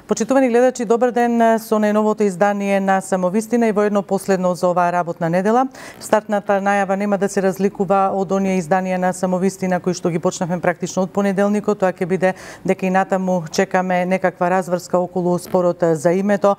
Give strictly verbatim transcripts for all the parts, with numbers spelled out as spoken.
Почитувани гледачи, добар ден со најновото издание на Самовистина и воедно последно за оваа работна недела. Стартната најава нема да се разликува од оние изданија на Самовистина кои што ги почнавме практично од понеделникот. Тоа ќе биде дека и натаму чекаме некаква разврска околу спорот за името.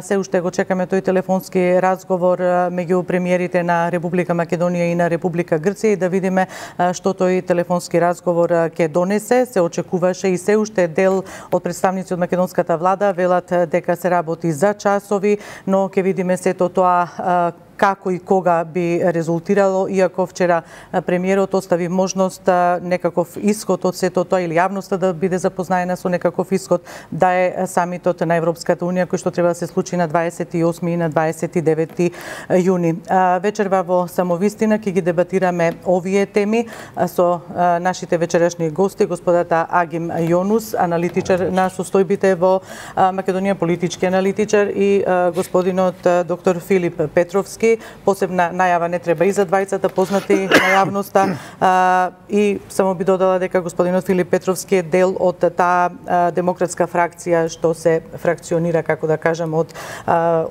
Се уште го чекаме тој телефонски разговор меѓу премиерите на Република Македонија и на Република Грција и да видиме што тој телефонски разговор ќе донесе. Се очекуваше и се уште дел од представници од македонската влада велат дека се работи за часови, но ќе видиме сето тоа како и кога би резултирало, иако вчера премиерот остави можност некаков исход од сето тоа или јавноста да биде запознаена со некаков исход, да е самитот на Европската унија кој што треба да се случи на дваесет и осми и на дваесет и девети јуни. Вечерва во Самовистина ќе ги дебатираме овие теми со нашите вечерашни гости, господата Агим Јонус, аналитичар на состојбите во Македонија, политички аналитичар, и господинот доктор Филип Петровски. Посебна најава не треба и за двајцата, познати на јавноста, и само би додала дека господинот Филип Петровски е дел од таа демократска фракција што се фракционира, како да кажам, од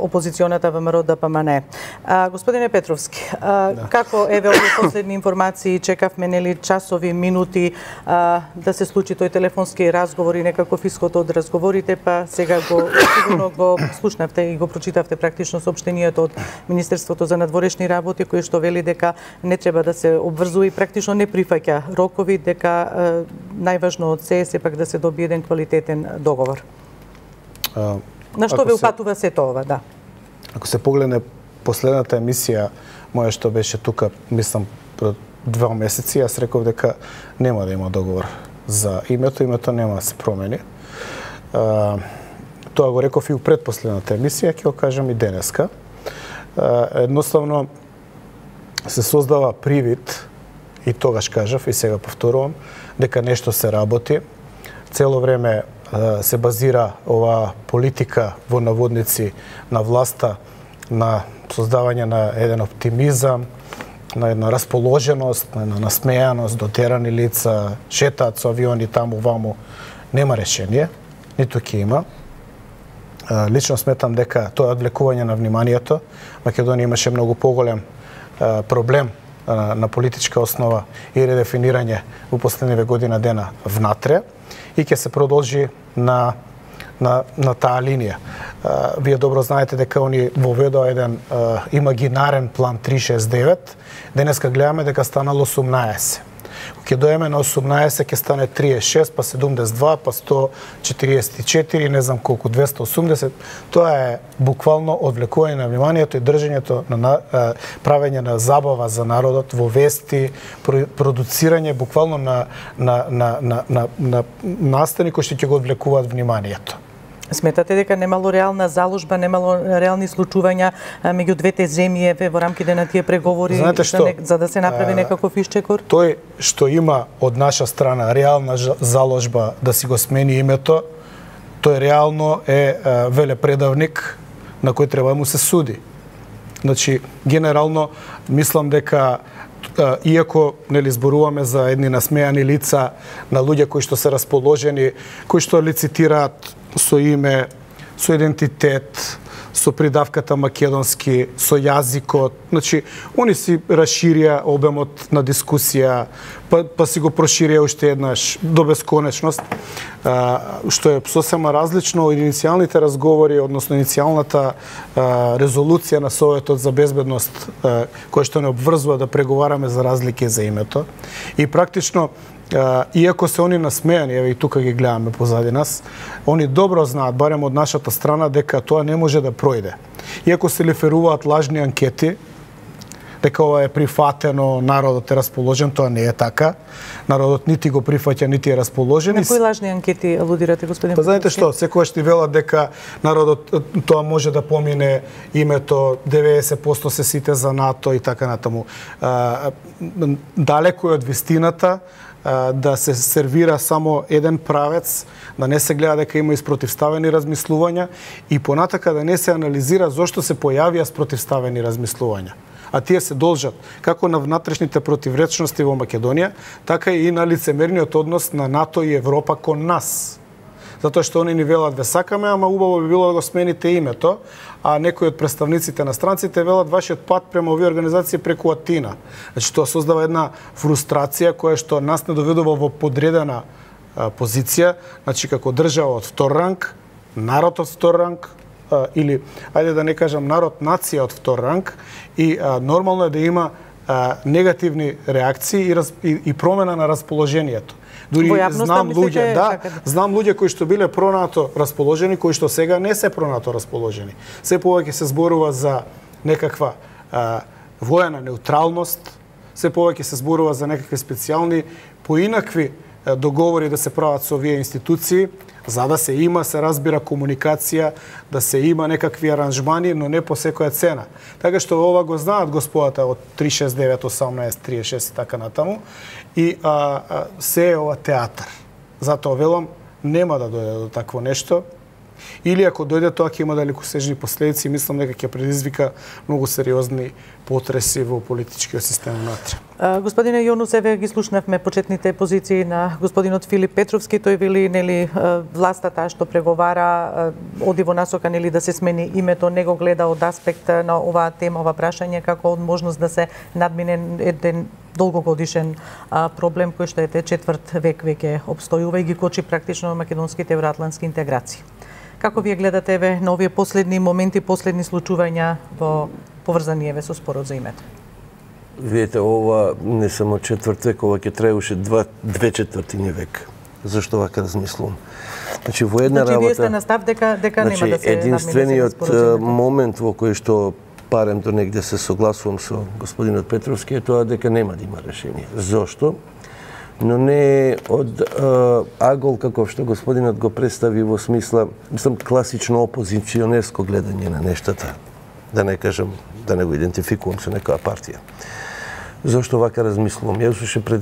опозиционата ВМРО Д П М Н. Господине Петровски, да. Како еве овие последни информации, чекавме нели часови, минути да се случи тој телефонски разговор и некаков исход од разговорите, па сега го сигурно го слушнавте и го прочитавте практично соопштенијето од Министерството за надворешни работи, кој што вели дека не треба да се обврзува и практично не прифаќа рокови, дека е, најважно од се е сепак да се добие еден квалитетен договор. А, На што ве упатува се... сето ова, да? Ако се погледне последната емисија моја што беше тука, мислам, пред два месеци, јас реков дека нема да има договор за името, името нема да се промени. А, тоа го реков и у предпоследната емисија, ќе го кажам и денеска. Едноставно се создава привид, и тогаш кажав и сега повторувам, дека нешто се работи. Цело време се базира оваа политика во наводници на власта на создавање на еден оптимизам, на една расположеност, на една насмејаност, дотерани лица, шетаат со авиони таму ваму. Нема решение, ниту ќе има. Лично сметам дека тоа одвлекување на вниманието. Македонија имаше многу поголем проблем на политичка основа и редефинирање во последниве година дена внатре и ќе се продолжи на на на таа линија. Вие добро знаете дека они воведоа еден имагинарен план три шест девет. Денеска гледаме дека станало осумнаесет. Ќе доеме на осумнаесет, ќе стане триесет и шест, па седумдесет и два, па сто четириесет и четири, не знам колку, двесте и осумдесет. Тоа е буквално одвлекување на вниманието и држењето на правење на забава за народот во вести, продуцирање буквално на на на на на, на настани кои што ќе го одвлекуваат вниманието. Сметате дека немало реална заложба, немало реални случувања меѓу двете земји во рамките на тие преговори што, за, за да се направи некаков исчекор? Тој што има од наша страна реална заложба да си го смени името, тој реално е велепредавник на кој треба да му се суди. Значи, генерално, мислам дека иако нели зборуваме за едни насмејани лица на луѓе кои што се расположени, кои што лицитираат со име, со идентитет, со придавката македонски, со јазикот. Значи, они си расширија обемот на дискусија, па, па си го проширија уште еднаш до бесконечност, а, што е сосема различно од иницијалните разговори, односно иницијалната а, резолуција на Советот за безбедност, а, која што не обврзува да преговараме за разлики за името. И практично, Uh, иако се они насмејани, еве и тука ги гледаме позади нас, они добро знаат, барем од нашата страна, дека тоа не може да пројде. Иако се лиферуваат лажни анкети, дека ова е прифатено, народот е расположен, тоа не е така. Народот нити го прифаќа, нити е расположен. На кои лажни анкети алудирате, господин? Па знаете што, секогаш ти велат дека народот тоа може да помине името, деветдесет проценти се сите за НАТО и така натаму. Uh, далеко е од вистината да се сервира само еден правец, да не се гледа дека има испротивставени размислувања и понатака да не се анализира зошто се појавија спротивставени размислувања. А тие се должат како на внатрешните противречности во Македонија, така и на лицемерниот однос на НАТО и Европа кон нас. затоа што они ни велат ве сакаме, ама убаво би било да го смените името, а некои од представниците на странците велат вашиот пат према овие организации преку Атина. Значи тоа создава една фрустрација која што нас не доведува во подредена а, позиција, значи како држава од втор ранг, народ од втор ранг, а, или ајде да не кажам народ, нација од втор ранг, и а, нормално е да има а, негативни реакции и, раз, и, и промена на расположението. Дури знам луѓе, да, знам луѓе кои што биле пронато расположени, кои што сега не се пронато расположени. Се повеќе се зборува за некаква а, воена неутралност, се повеќе се зборува за некакви специјални поинакви а, договори да се прават со овие институции, за да се има, се разбира, комуникација, да се има некакви аранжмани, но не по секоја цена. Така што ова го знаат господата од три шест девет осамнаесет триесет и шест и така натаму, и а, а, се е ова театар. Затоа велам, нема да дојде до такво нешто, или ако дојде тоа ќе има далекосежни последици, мислам дека ќе предизвика многу сериозни потреси во политичкиот систем внатре. Господине Јонус, еве ги слушнавме почетните позиции на господинот Филип Петровски. Тој вели, нели, власта таа што преговара оди во насока, нели, да се смени името, не го гледа од аспект на оваа тема, ова прашање како од можност да се надмине еден долгогодишен а, проблем кој што ете четврт век веќе обстојува и ги кочи практично македонските евроатлантски интеграции. Како вие гледате еве на овие последни моменти, последни случувања во поврзани еве со спорот за името? Видете, ова не само четврт век, ова ќе траеше два, две четвртини век. Зашто вака размислувам? Значи, во една значи, работа... вие сте на став дека, дека значи, нема да се единствениот момент во кој што парем до негде се согласувам со господинот Петровски е тоа дека нема да има решение. Зошто? Но не од а, агол каков што господинот го представи во смисла, мислам, класично опозиционерско гледање на нештата. Да не кажам, да не го идентификувам со некоја партија. Зошто вака размислувам? Јас уште пред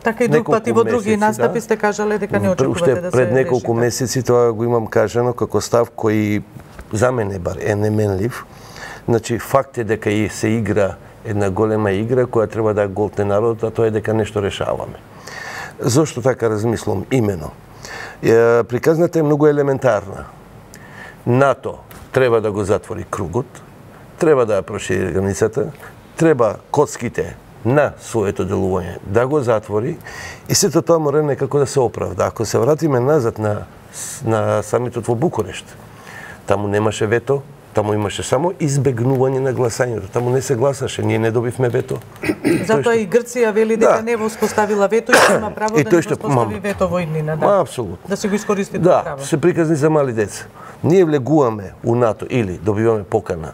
така и друг пат и во други настапи да, сте кажале дека не очекувате да се пред неколку месеци тоа го имам кажано како став кој за мене бар е неменлив. Значи, факт е дека и се игра една голема игра која треба да голтне народот, а тоа е дека нешто решаваме. Зошто така размислувам? Имено. Е, приказната е многу елементарна. НАТО треба да го затвори кругот, треба да ја прошири границата, треба коцките на своето делување да го затвори и сето тоа мора некако да се оправда. Ако се вратиме назад на, на самитот во Букурешт, таму немаше вето, таму имаше само избегнување на гласањето. Таму не се гласаше, ние не добивме вето. Затоа и Грција вели дека да. не во успоставила вето и има право и да не успостави вето во иднина. Да. Апсолутно. Да се го искористи да, право. Да, се приказни за мали деца. Ние влегуваме у НАТО или добиваме покана.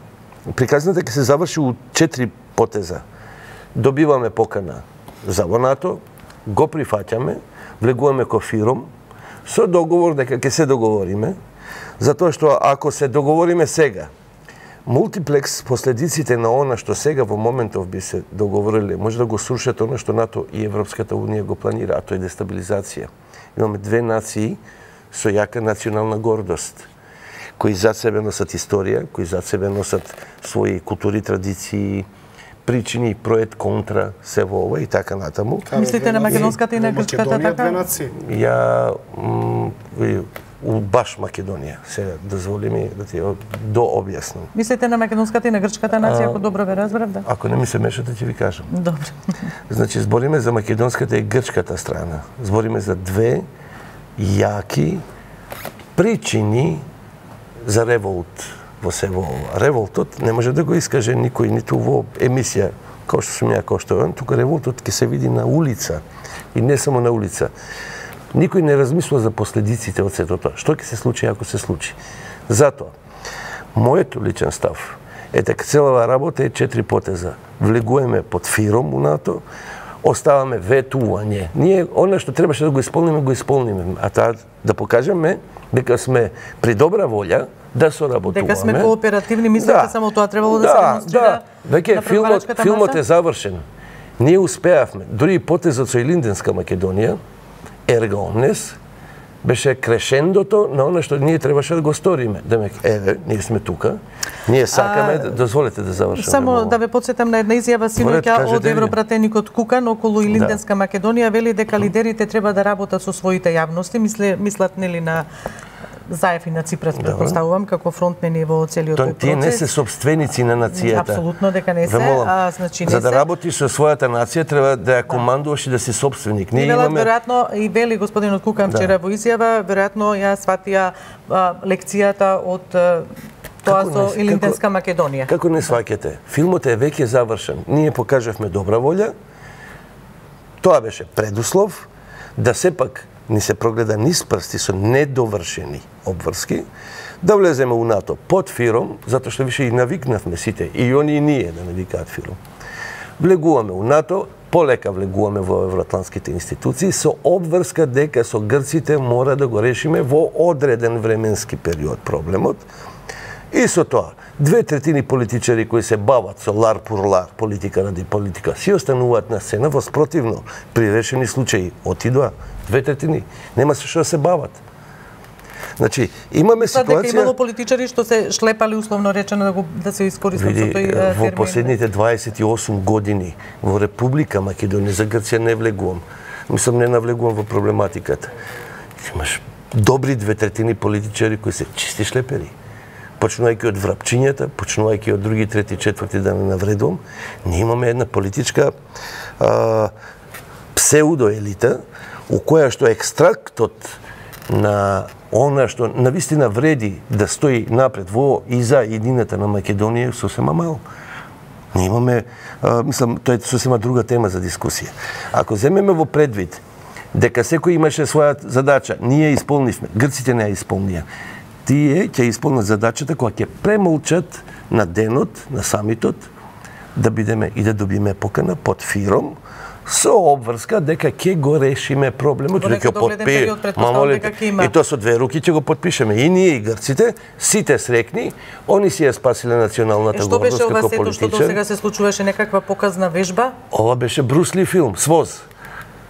Приказната ќе се заврши у четири потеза. Добиваме покана за во НАТО, го прифаќаме, влегуваме ко фиром, со договор дека ќе се договориме, затоа што ако се договориме сега, мултиплекс последиците на она што сега во моментов би се договориле, може да го срушат она што НАТО и Европската унија го планира, а тоа е дестабилизација. Имаме две нации со јака национална гордост, кои зад себе носат историја, кои зад себе носат своји култури, традиции, причини, проект, контра, се во ова и така натаму. Мислите на македонската и на грчката така? Ја у баш Македонија, се дозволи ми да ти до објаснам. Mислите на македонската и на грчката нација, ако добро ве разбрав, да? Ако не ми се мешате, ќе ви кажам. Добро. Значи, збориме за македонската и грчката страна. Збориме за две јаки причини за револт во се во ова. Револтот не може да го искаже никој, ниту во емисија, како што сум ја, како што е. Тука револтот ќе се види на улица. И не само на улица. Никој не размислува за последиците од сето тоа. Што ќе се случи ако се случи? Затоа, мојот личен став е дека целава работа е четири потеза. Влегуваме под фиром у НАТО, оставаме ветување. Ние она што требаше да го исполниме, го исполниме. А таа да покажеме дека сме при добра волја да соработуваме. Дека сме кооперативни, мислите да. Само тоа требало да, да се демонстрира. Да, веќе филмот, филмот е завршен. Ние успеавме, дури и потезот со Илинденска Македонија, ерга омнес, беше крешендото на оно што ние требаше да го сториме. Демек, еве, ние сме тука, ние сакаме, а, дозволете да завршам. Само да ве подсетам на една изјава синоќа од европратеникот Кукан околу Илинденска да. Македонија, вели дека лидерите треба да работат со своите јавности, мисле, мислат нели на Заев и на Ципрас, предпоставувам, како фронтмени во целиот тој процес. Тие не се собственици на нацијата. Апсолутно дека не се, а значи не се. За да се. работиш со својата нација треба да ја командуваш и да си собственик. Ние имаме веројатно и вели господинот Кукан вчера да. Во изјава, веројатно ја сватија а, лекцијата од тоа со Илинденска Македонија. Како не сваќате? Филмот е веќе завршен. Ние покажавме добра волја. Тоа беше предуслов да сепак ни се прогледа низ прсти со недовршени обврски, да влеземе у НАТО под фиром, затоа што више и навикнавме сите, и они и ние да навикаат фиром. Влегуваме у НАТО, полека влегуваме во евроатлантските институции, со обврска дека со грците мора да го решиме во одреден временски период проблемот. И со тоа, две третини политичари кои се бават со лар пур лар, политика ради политика, си остануваат на сцена, во спротивно, при решени случаи отидоа, две третини, нема се што да се бават. Значи, имаме ситуација... Тоа дека имало политичари што се шлепали, условно речено, да, го, да се искористат со тој термин. Во последните дваесет и осум години во Република Македонија, за Грција не влегувам, мислам не навлегувам во проблематиката. Имаш добри две третини политичари кои се чисти шлепери. Почнувајќи од врапчињата, почнувајќи од други, трети, четврти, да не навредувам, ние имаме една политичка а, псевдоелита, у која што екстрактот на она што навистина вреди да стои напред во и за едината на Македонија сосема мал. Ние имаме, а, мислам, тоа е сосема друга тема за дискусија. Ако земеме во предвид дека секој имаше своја задача, ние ја исполнивме, грците не ја исполнија. Тие ќе исполнат задачата кога ќе премолчат на денот, на самитот, да бидеме и да добиме покана под фиром, со обврска дека ќе го решиме проблемот, дека ќе подпишеме. И тоа со две руки ќе го подпишеме. И ние и грците, сите срекни, они си ја спасиле националната гордост како политичар. Што беше ова сето што досега се случуваше, некаква показна вежба? Ова беше Брусли филм, СВОЗ.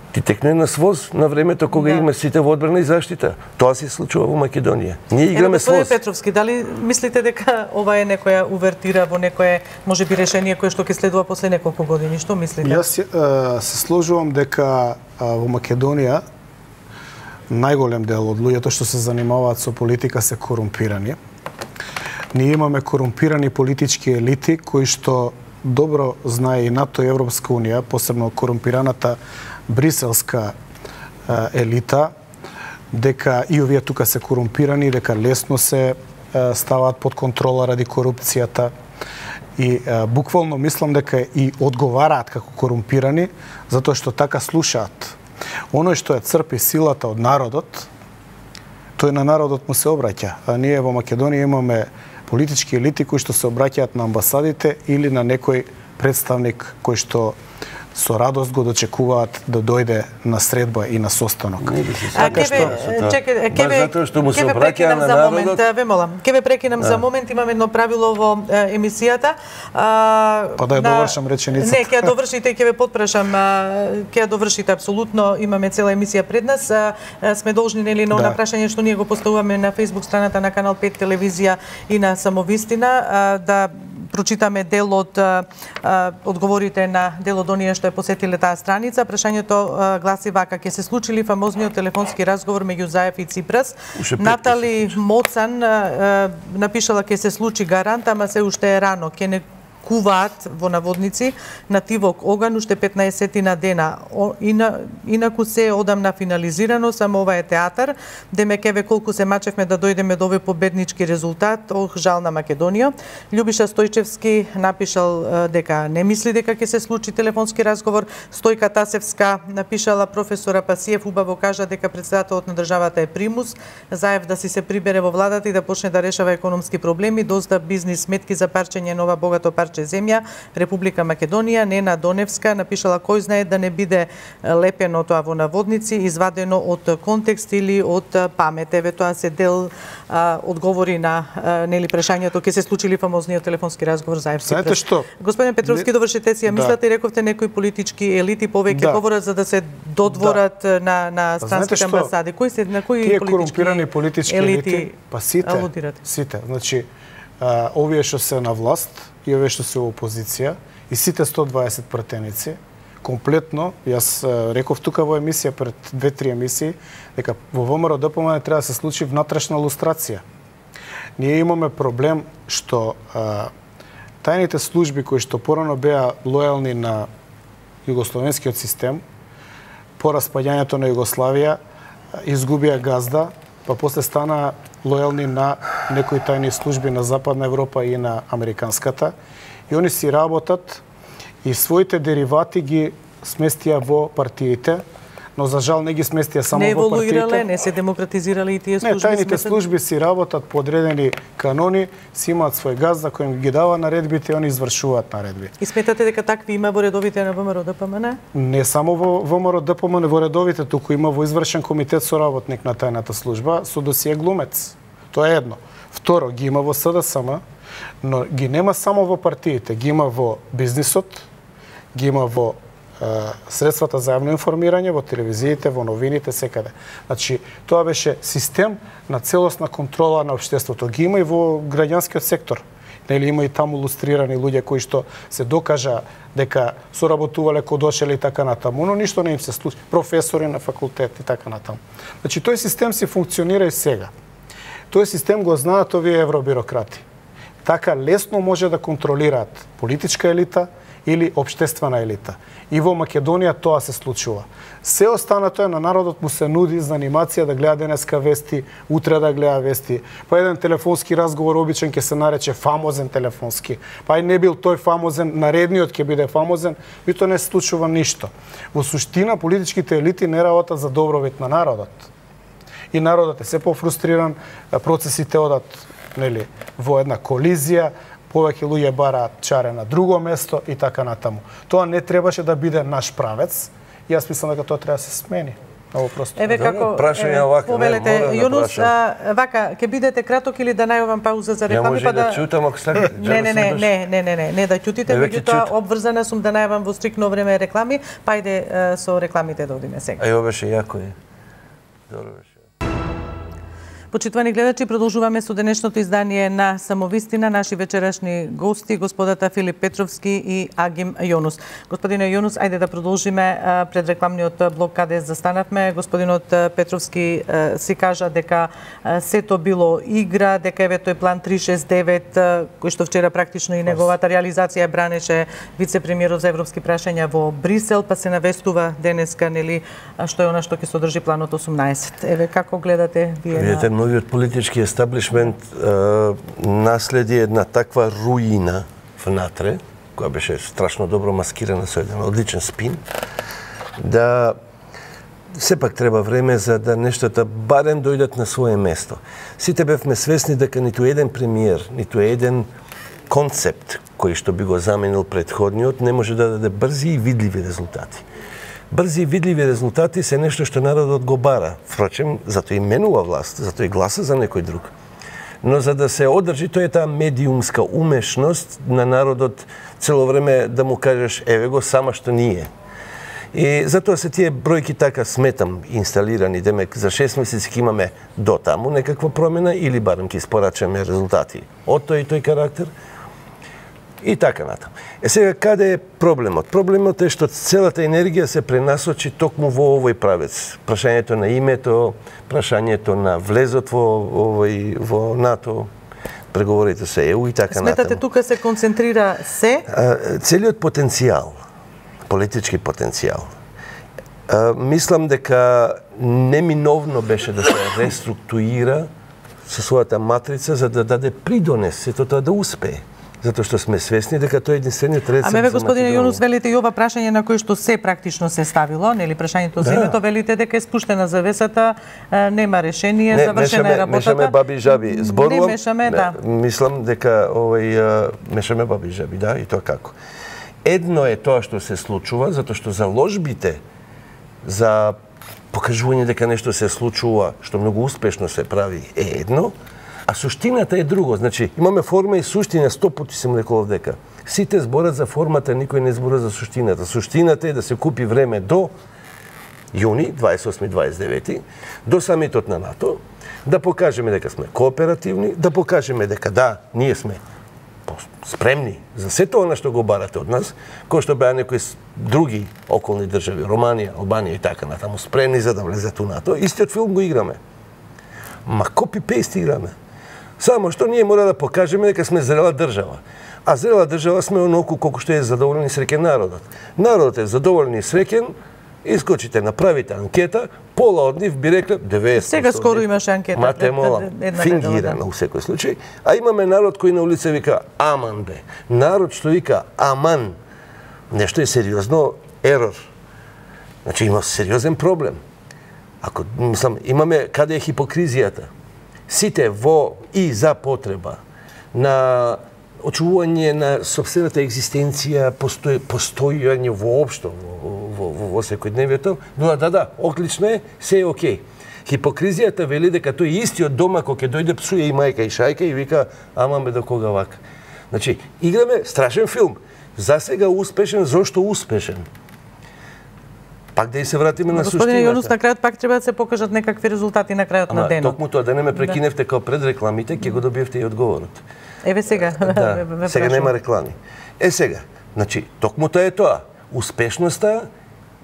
Ти текне на СВОЗ на времето кога да. Има сите во одбрана и заштита. Тоа се случува во Македонија. Ние играме СВОЗ. Господин Петровски, дали мислите дека ова е некоја увертира во некое можеби решение кое што ќе следува после неколку години? Што мислите? Јас се сложувам дека во Македонија најголем дел од луѓето што се занимаваат со политика се корумпирани. Ние имаме корумпирани политички елити кои што добро знае и НАТО и Европска унија, посебно корумпираната бриселска елита, дека и овие тука се корумпирани, дека лесно се ставаат под контрола ради корупцијата и буквално мислам дека и одговараат како корумпирани, затоа што така слушаат. Оно што ја црпи силата од народот, тој на народот му се обраќа. А ние во Македонија имаме политички елити кои што се обраќаат на амбасадите или на некој представник кој што со радост го дочекуваат да дојде на средба и на состанок. А ке ве чекај, ке ве затоа што му се обраќа на народот. Ве молам, ке ве прекинам за момент, имам едно правило во емисијата. Па да ја довршам реченицата. Не, ќе ја довршите и ќе ве потпрашам, ќе ја довршите апсолутно. Имаме цела емисија пред нас. Сме должни нели на она прашање што ние го поставуваме на Facebook страната на Канал пет телевизија и на Самовистина да прочитаме дел од а, одговорите на дел од оние што е посетиле таа страница. Прашањето а, гласи вака: ќе се случи ли фамозниот телефонски разговор меѓу Заев и Ципрас? Натали Моцан а, напишала ќе се случи гарант, ама се уште е рано. Ќе не куваат во наводници на тивок оган уште петнаесет дена. Ина, инаку се е одамна финализирано, само ова е театар. Демек еве колку се мачевме да дојдеме до овој победнички резултат. Ох, жал на Македонија. Љубиша Стојчевски напишал дека не мисли дека ќе се случи телефонски разговор. Стојка Тасевска напишала: професора Пасиев убаво кажа дека претседателот на државата е примус. Заев да си се прибере во владата и да почне да решава економски проблеми, дозда бизнис сметки за парчење нова богато парче парче земја, Република Македонија, Нена Доневска напишала кој знае да не биде лепено тоа во наводници, извадено од контекст или од памет. Еве тоа се дел а, одговори на а, нели прашањето ќе се случи ли фамозниот телефонски разговор за еф си. Знаете што? Господин Петровски, не... довршете си ја да. мислата и рековте некои политички елити повеќе да. говорат за да се додворат да. на на странските амбасади. Кои се на кои тие политички корумпирани политички елити, елити па сите, алудирате? Сите. Значи, а, овие што се на власт и овие што се во опозиција и сите сто дваесет пратеници комплетно, јас реков тука во емисија пред две-три емисии, дека во ВМРО-ДПМН треба да се случи внатрешна лустрација. Ние имаме проблем што а, тајните служби кои што порано беа лојални на југословенскиот систем, по распаѓањето на Југославија, изгубија газда, па после стана лојални на некои тајни служби на Западна Европа и на американската. И они си работат и своите деривати ги сместија во партиите, но за жал не ги сместија само не во партиите. Не еволуирале, не се демократизирале и тие служби. Не, тајните сместат... служби си работат по одредени канони, си имаат свој газ за кој ги дава наредбите и они извршуваат наредби. И сметате дека такви има во редовите на ВМРО-ДПМН? Не само во ВМРО-ДПМН во редовите, туку има во извршен комитет соработник на тајната служба со досие глумец. Тоа е едно. Второ, ги има во СДСМ, но ги нема само во партиите, ги има во бизнисот, ги има во средствата за јавно информирање, во телевизиите, во новините, секаде. Значи, тоа беше систем на целосна контрола на општеството. Ги има и во граѓанскиот сектор. Нели има и таму лустрирани луѓе кои што се докажа дека соработувале кога дошле и така натаму, но ништо не им се случи. Професори на факултет и така натаму. Значи, тој систем си функционира и сега. Тој систем го знаат овие евробирократи. Така лесно може да контролираат политичка елита или општествена елита. И во Македонија тоа се случува. Се останато е на народот му се нуди за анимација да гледа денеска вести, утре да гледа вести. Па еден телефонски разговор обичен ќе се нарече фамозен телефонски. Па и не бил тој фамозен, наредниот ќе биде фамозен, и тоа не се случува ништо. Во суштина политичките елити не работат за добровит на народот. И народот е се пофрустриран, процесите одат, нели, во една колизија, повеќе луѓе бараат чаре на друго место и така натаму. Тоа не требаше да биде наш правец. И јас мислам дека тоа треба да се смени. Много просто. Еве како прашање вака, повелете, Јунус, вака, ќе бидете краток или да најавам пауза за реклами, па да чутам ако сакате. Не, не, не, не, не, не, не, не да ќутите, меѓутоа обврзана сум да најавам во стрикно време реклами, па иде со рекламите да одиме сега. Ај, ова беше јако е. Добро беше. Почитувани гледачи, продолжуваме со денешното издание на Самовистина. Наши вечерашни гости, господата Филип Петровски и Агим Јонус. Господине Јонус, ајде да продолжиме пред рекламниот блок каде застанавме. Господинот Петровски си кажа дека сето било игра, дека еве тој план три шест девет, кој што вчера практично и неговата реализација бранеше вице-премиерот за европски прашања во Брисел, па се навестува денеска, нели, што е она што ќе содржи планот осумнаесет. Еве како гледате вие на новиот политички естаблишмент наследи една таква руина внатре, која беше страшно добро маскирана со еден одличен спин, да сепак треба време за да нештата барем дојдат на свое место. Сите бевме свесни дека ниту еден премиер, ниту еден концепт кој што би го заменил претходниот не може да даде брзи и видливи резултати. Брзи и видливи резултати се нешто што народот го бара. Впрочем, затоа и менува власт, затоа и гласа за некој друг. Но за да се одржи, тоа е таа медиумска умешност на народот цело време да му кажеш еве го сама што ние. И затоа се тие бројки така сметам инсталирани, демек за шест месеци ќе имаме до таму некаква промена или барем ќе испорачаме резултати од тој и тој карактер. И така натаму. Е сега, каде е проблемот? Проблемот е што целата енергија се пренасочи токму во овој правец. Прашањето на името, прашањето на влезот во овој во НАТО, преговорите со Е У и така натаму. Сметате тука се концентрира се? Целиот потенцијал, политички потенцијал. Мислам дека неминовно беше да се реструктурира со својата матрица за да даде придонес сето тоа да успее. затоа што сме свесни дека тој е единствениот рецепт за Македонија. Аме ве, господине Јунус, велите и ова прашање на кое што се практично се ставило, нели прашањето за името, велите дека е спуштена завесата, нема решение, не, завршена мешаме, е работата. Мешаме баби и жаби. Зборувам, не мешаме, да. Мислам дека овој мешаме баби и жаби, да, и тоа како. Едно е тоа што се случува, затоа што заложбите за покажување дека нешто се случува, што многу успешно се прави, е едно, а суштината е друго. Значи, имаме форма и суштина, сто пати сум рекол дека сите зборат за формата, никој не збора за суштината. Суштината е да се купи време до јуни, дваесет и осми дваесет и девети, до самитот на НАТО, да покажеме дека сме кооперативни, да покажеме дека да, ние сме спремни за сето она што го барате од нас, кој што беа некои други околни држави, Романија, Албанија и така натаму, спремни за да влезат у НАТО. Истиот филм го играме. Ма копи-пейст играме. Само што ние мора да покажеме дека сме зрела држава. А зрела држава сме оноку колку што е задоволен и среќен народот. Народот е задоволен и среќен, искочите, направите анкета, пола од нив би рекле деветдесет. Сега скоро имаше анкета. Мате мола, фингирана у секој случај. А имаме народ кој на улица вика аман бе. Народ што вика аман. Нешто е сериозно ерор. Значи има сериозен проблем. Ако, мислам, имаме каде е хипокризијата. Сите во и за потреба на очувување на собствената екзистенција, постој, постојање воопшто во, во, во, во секојдневието, но да, да, оклично е, се е окей. Хипокризијата вели дека тој истиот дома кој ќе дојде псуе и мајка и шајка и вика ама ме до кога вака. Значи, играме страшен филм. За сега успешен, зошто успешен? Пак да и се вратиме на суштината. Господине Јунус, на крајот пак треба да се покажат некакви резултати на крајот на денот. Токму тоа, да не ме прекиневте као пред рекламите, ќе го добиевте и одговорот. Еве сега. Да, сега нема реклами. Е сега, значи, токму тоа е тоа. Успешноста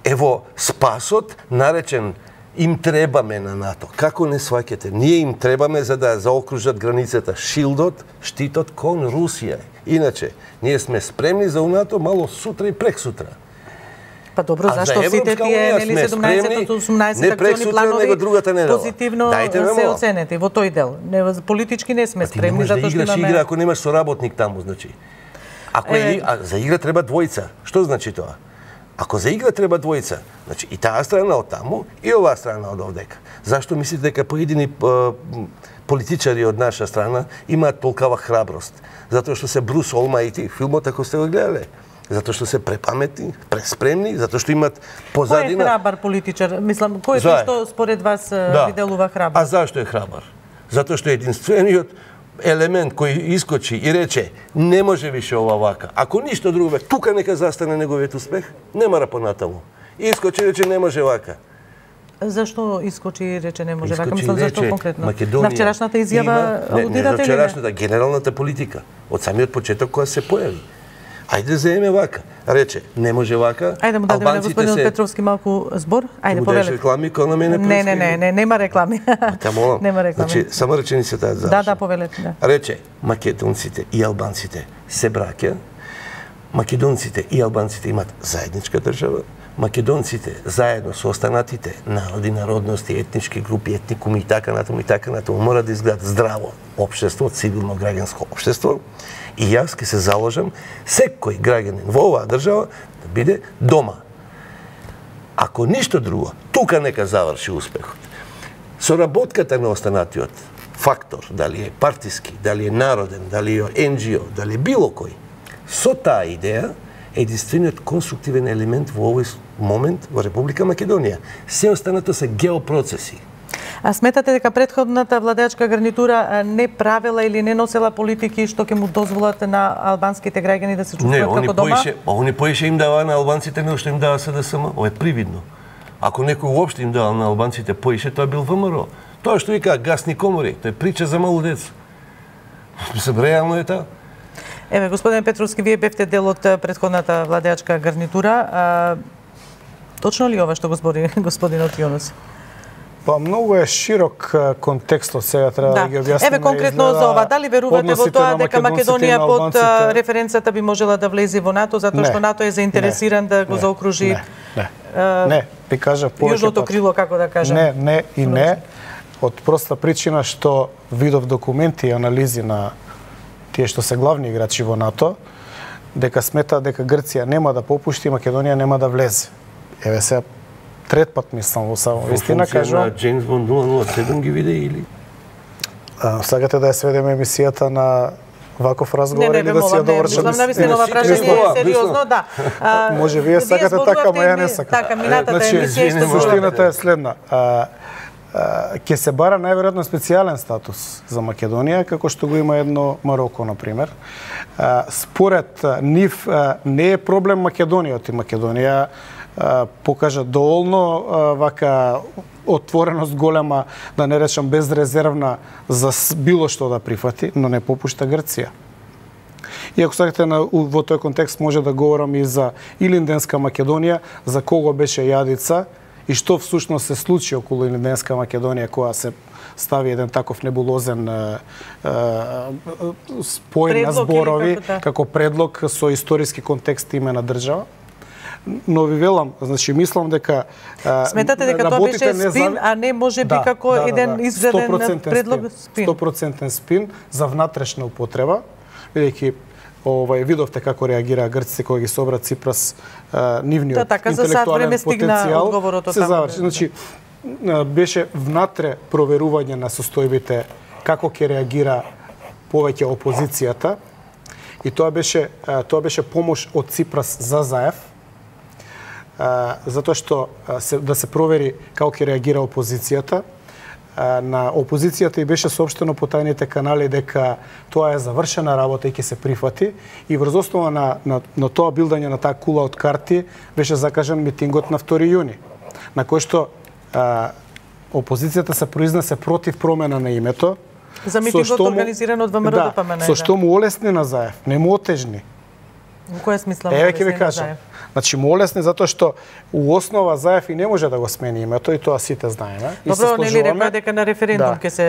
е во спасот, наречен им требаме на НАТО. Како не сваќате? Ние им требаме за да заокружат границата. Шилдот, штитот кон Русија. Иначе, ние сме спремни за НАТО мало сутра и прексутра. Па добро, зашто сите тие нели седумнаесет од осумнаесет акциони планови позитивно се оценети во тој дел? Не, политички не сме спремни затоа што имаме... Ти не можеш да играш имаме... игра ако немаш соработник таму, значи. Ако е... а, за игра треба двојца. Што значи тоа? Ако за игра треба двојца, значи и таа страна од таму и оваа страна од овдека. Зашто мислите дека поедини политичари од наша страна имаат толкава храброст? Затоа што се Брус Олмајти, филмот ако сте го гледале. Затоа што се препаметни, преспремни, затоа што имат позадина... Кој е храбар политичар? Мислам, кој е тој што според вас да. ви делува храбар? А зашто е храбар? Затоа што е единствениот елемент кој искочи и рече не може више ова вака. Ако ништо друго, тука нека застане неговиот успех, не мора понатаму. Искочи и рече не може вака. Зашто искочи и рече не може искочи вака? Мислам, зашто конкретно? Македонија на вчерашната изјава алудирате ли? Не, не на вчерашната, генералната политика. Од самиот почеток која се појави. Ајде заеме вака. Рече, не може вака. Ајде му дадеме на господинот се... Петровски малку збор. Ајде повелете. Реклами кога на мене Не, не, не, не, нема реклами. Та молам. Нема реклами. Значи, само реченицата за. Да, да, повелете, да. Рече, македонците и албанците се браќа. Македонците и албанците имат заедничка држава. Македонците заедно со останатите народи, народности, етнички групи, етникуми и така натаму и така натаму мора да изгледат здраво општество, цивилно граѓанско општество. И јас ќе се заложам секој граѓанин во оваа држава да биде дома. Ако ништо друго, тука нека заврши успехот. Соработката на останатиот фактор, дали е партиски, дали е народен, дали е ен џи о, дали е било кој, со таа идеја е единствениот конструктивен елемент во овој момент во Република Македонија. Се останато се геопроцеси. А сметате дека претходната владеачка гарнитура не правела или не носела политики што ќе му дозволат на албанските граѓани да се чувствуваат како дома? Не, они поише им дава на албанците него што им дава Се Де Се Ем. Ова е привидно. Ако некој уопште им дава на албанците поише, тоа бил Вэ Ем Р О. Тоа што вика гасни комори, тоа е прича за малу деца. Мислам, реално е тоа. Еве, господин Петровски, вие бевте дел од претходната владеачка гарнитура. А, точно ли ова што го збори господинот Јунус? Па многу е широк контекстот, сега треба да, да ги објасниме. Еве конкретно за ова, дали верувате во тоа дека Македонија под референцата би можела да влезе во НАТО, затоа што НАТО е заинтересиран не, да го не, заокружи? Не, не, uh, не, би кажа повеќе. Јужното крило, како да кажам. Не, не и не, од проста причина што видов документи и анализи на тие што се главни играчи во НАТО, дека сметаат дека Грција нема да попушти, Македонија нема да влезе. Еве сега трет пат мислам во само вистина кажувам. На Джеймс Бонд нула нула седум ги виде или? А, сакате да ја сведеме емисијата на ваков разговор не, или да си ја довршиме? Мислам, навистина ова прашање е сериозно, да. А, може вие сакате така, ма ја не сакам. Така, минатата значи, емисија што суштината е следна. А, ќе се бара најверојатно специјален статус за Македонија, како што го има едно Мароко, например. А, според нив не е проблем Македонијот и Македонија а, покажа доволно а, вака отвореност голема, да не речам безрезервна, за било што да прифати, но не попушта Грција. И ако сакате на, во тој контекст може да говорам и за Илинденска Македонија, за кого беше Јадица и што всушност се случи околу Илинденска Македонија, која се стави еден таков небулозен е, е, спој на зборови, како, како предлог со историски контекст име на држава. Но ви велам, значи мислам дека сметате дека тоа беше спин, а не може би да, како да, еден да, да. изведен предлог спин. сто проценти спин за внатрешна употреба, бидејќи овај видовте како реагира грците кога ги собра Ципрас, а, нивниот да, така, интелектуален потенцијал се заврши. Значи беше внатре проверување на состојбите како ќе реагира повеќе опозицијата и тоа беше тоа беше помош од Ципрас за Заев, затоа што се, да се провери како ќе реагира опозицијата. На опозицијата и беше соопштено по тајните канали дека тоа е завршена работа и ќе се прифати и врз основа на, на, на тоа билдање на таа кула од карти беше закажан митингот на втори јуни, на кој што а, опозицијата се произнесе против промена на името. За митингот организиран од ВМРО ДПМН. Да, со што му олесни на Заев, не му отежни. Во која смисла му олесни на Заев? Значи, му олесни затоа што у основа Заев и не може да го смени името и тоа сите знаеме. Добро, нели рекоа дека на референдум ќе да. се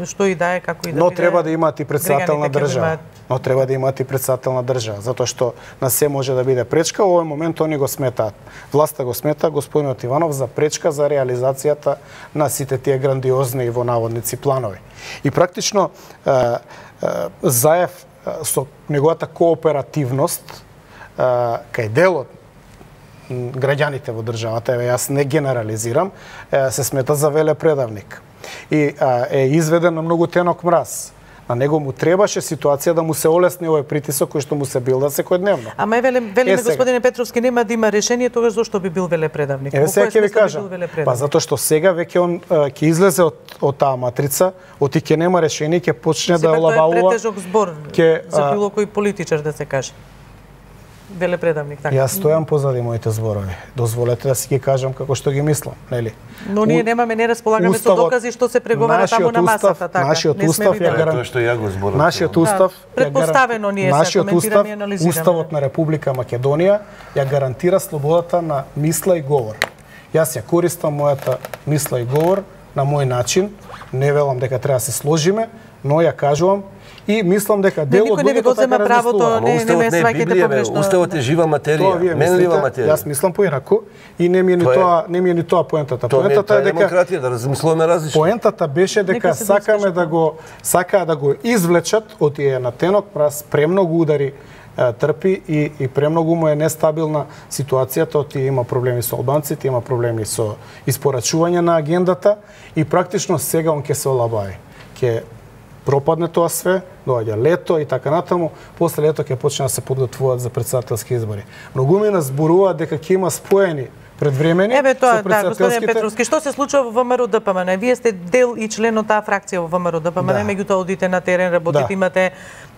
што и да е, како и да Но биде. треба да имаат и председател на држава. Но треба да имаат и председател на држава, затоа што на се може да биде пречка. Во овој момент они го сметаат. Власта го смета господинот Иванов за пречка за реализацијата на сите тие грандиозни и во наводници планови. И практично Заев со неговата кооперативност кај делот граѓаните во државата, еве јас не генерализирам, се смета за велепредавник. И е изведен на многу тенок мраз. На него му требаше ситуација да му се олесни овој притисок кој што му се билда секојдневно. Ама е велем, велиме е, господине Петровски, нема да има решение, тогаш зошто би бил велепредавник? Еве сега ќе ви кажам. Па затоа што сега веќе он ќе излезе од од таа матрица, оти ќе нема решение, ќе почне да олабавува. Тоа е претежок збор ке, за било кој политичар да се каже. Велепредавник, така. Јас стојам позади моите зборови. Дозволете да си ги кажам како што ги мислам, нели? Но ние немаме, не располагаме со докази што се преговара таму на масата, така. Нашиот устав ја гарантира што ја го зборам. Нашиот устав да, предпоставено ние се коментираме и анализираме. Уставот на Република Македонија ја гарантира слободата на мисла и говор. Јас ја користам мојата мисла и говор на мој начин. Не велам дека треба да се сложиме, но ја кажувам и мислам дека дел од луѓето така правото, не, не ме сваќате погрешно. Уставот е жива материја, менлива материја. Јас мислам поинаку и не ми е ни тоа, не ми е ни тоа поентата. Поентата е дека демократија, да размислуваме различно. Поентата беше дека сакаме да го сакаа да го извлечат од тие на тенок праз премногу удари трпи и и премногу му е нестабилна ситуацијата, оти има проблеми со албанците, има проблеми со испорачување на агендата и практично сега он ќе се олабави. Ќе пропадне тоа све, доаѓа лето и така натаму, после лето ќе почне да се подготвуваат за председателски избори. Многу ми нас зборуваат дека ќе има споени предвремени Еве тоа, да, господин Петровски, што се случува во ВМРО ДПМН? Вие сте дел и член од таа фракција во ВМРО ДПМН, да. Меѓутоа одите на терен, работите, да. Имате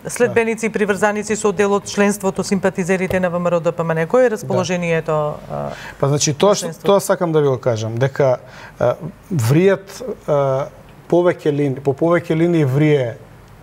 следбеници и приврзаници со дел од членството, симпатизерите на ВМРО ДПМН. Кој е расположението? Да. Па значи тоа тоа сакам да ви го кажам, дека а, вријат а, повеќе линии, по повеќе линии врие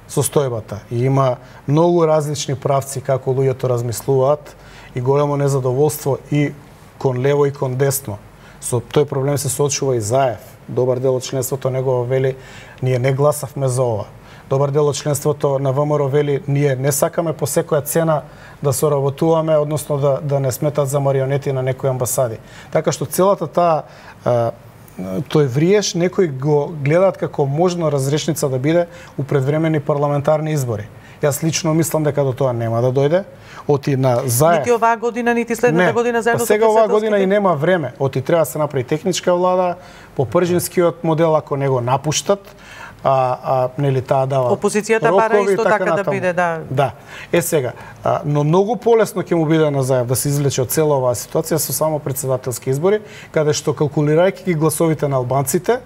состојбата и има многу различни правци како луѓето размислуваат и големо незадоволство и кон лево и кон десно. Со тој проблем се соочува и Заев. Добар дел од членството негово вели ние не гласавме за ова. Добар дел од членството на ВМРО вели ние не сакаме по секоја цена да соработуваме, односно да да не сметат за марионети на некои амбасади. Така што целата таа тој вриеш, некои го гледаат како можно разрешница да биде у предвремени парламентарни избори. Јас лично мислам дека до тоа нема да дојде. Оти на заев. Нити оваа година, нити следната не, година заедно па сега со оваа година и председателските. нема време. Оти треба да се направи техничка влада по пржинскиот модел, ако не го напуштат, а, а нели таа дава Опозицијата рокови, бара исто така да натаму. биде, да. Да. Е сега, а, но многу полесно ќе му биде на заев да се извлече од цела оваа ситуација со само председателски избори, каде што калкулирајќи ги гласовите на албанците,